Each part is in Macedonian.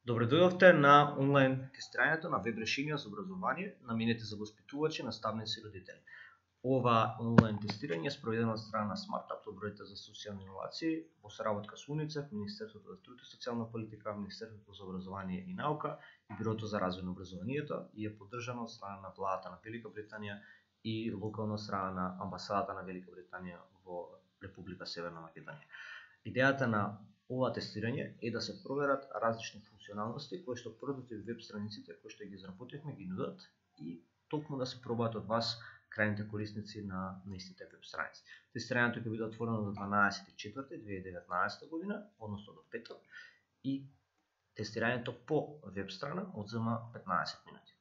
Добре дојдовте на онлайн тестирањето на веб решенија за образование наменети за воспитувачи, наставници и родители. Ова онлайн тестирање е спроведено од страна на Смартап, Лабораторија за социјални иновации, во соработка со УНИЦЕФ, Министерството за труд и социјална политика, Министерството за образование и наука и Бирото за развој на образованието и е поддржано од страна на владата на Велика Британија и локално од страна на амбасадата на Велика Британија во Република Северна Македонија. Идејата на ова тестирање е да се проверат различни функционалности кои што првите веб страниците кои што ги изработивме ги нудат и токму да се пробаат од вас крајните корисници на истите веб страници. Тестирањето ќе биде отворено до 12.4.2019 година, односно до петок, и тестирањето по веб страна одзема 15 минути.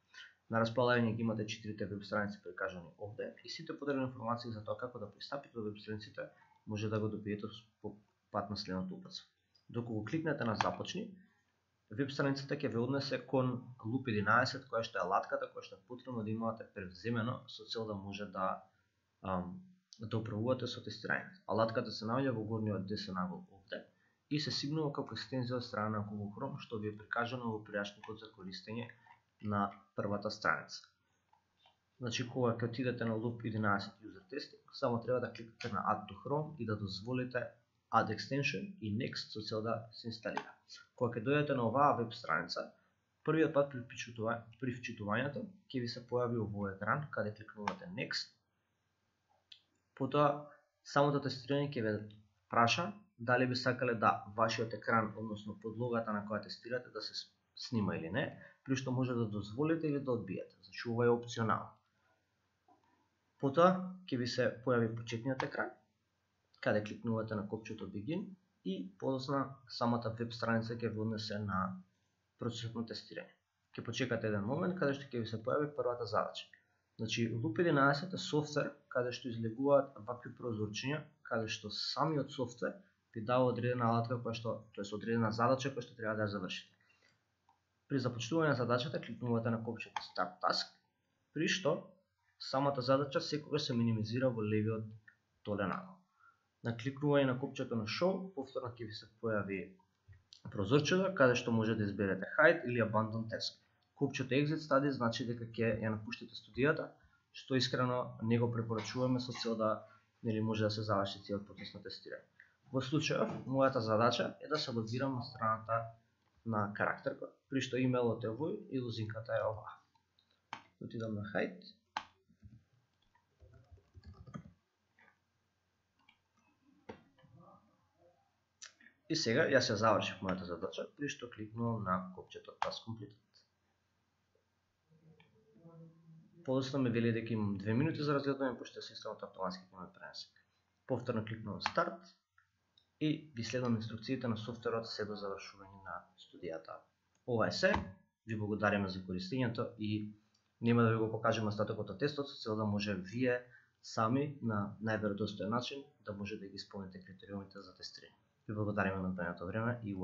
На располагање ги имате 4 веб страници прикажани овде и сите потребни информации за тоа како да пристапите до веб страниците може да го добиете по пат на следното упатство. Доколку кликнете на започни, веб страницата ќе ве однесе кон Loop 11, која што е алатката која што е потребно да имате превземено со цел да може да управувате со тестирањето. Алатката се наоѓа во горниот десен агол овде и се сигнува како екстензија од страна на Google Chrome, што ви е прикажано во пријашникот за користење на првата страница. Значи, кога ќе отидете на Loop 11 User Testing, само треба да кликнете на Add to Chrome и да дозволите Add Extension и Next со цел да се инсталира. Кога ќе дојдете на оваа веб страница, првиот пат при вчитувањето ќе ви се појави овој екран каде кликнувате Next. Потоа самото тестирање ќе ве праша дали би сакале да вашиот екран, односно подлогата на која тестирате да се снима или не, при што може да дозволите или да одбиете. Значи ова е опционално. Потоа ќе ви се појави почетниот екран каде кликнувате на копчето Begin и подосна самата веб страница ќе ви однесе на процесот на тестирање. Ќе почекате еден момент каде што ќе ви се појави првата задача. Значи Loop 11 е софтвер каде што излегуваат вакви прозорчиња, каде што самиот софтвер ви дава одредена алатка која што, тоест одредена задача која што треба да ја завршите. При започнување на задачата кликнувате на копчето Start Task, при што самата задача секогаш се минимизира во левиот долен агол. На кликнување на копчето на Show, повторно ќе ви се појави прозорчето каде што може да изберете Hide или Abandon Task. Копчето Exit Study значи дека ќе ја напуштите студијата, што искрено не го препорачуваме со цел да може да се заврши целиот процес на тестирање. Во случајов, мојата задача е да се логирам на страната на карактеркот, при што имејлот е овој и лозинката е оваа. Отидам на Hide. И сега јас ја завршив мојата задача, при што кликнувам на копчето Task Completed. Подоцна ме вели дека имам 2 минути за разгледување, пошто системот автоматски ќе ме пренесе. Повторно кликнувам Start и ги следам инструкциите на софтверот се до завршување на студијата. Ова е се, ви благодариме за користењето и нема да ви го покажеме остатокот од тестот со цел да може вие сами на најверодостоен начин да може да ги исполните критериумите за тестирање. Ви благодариме на одвоеното време и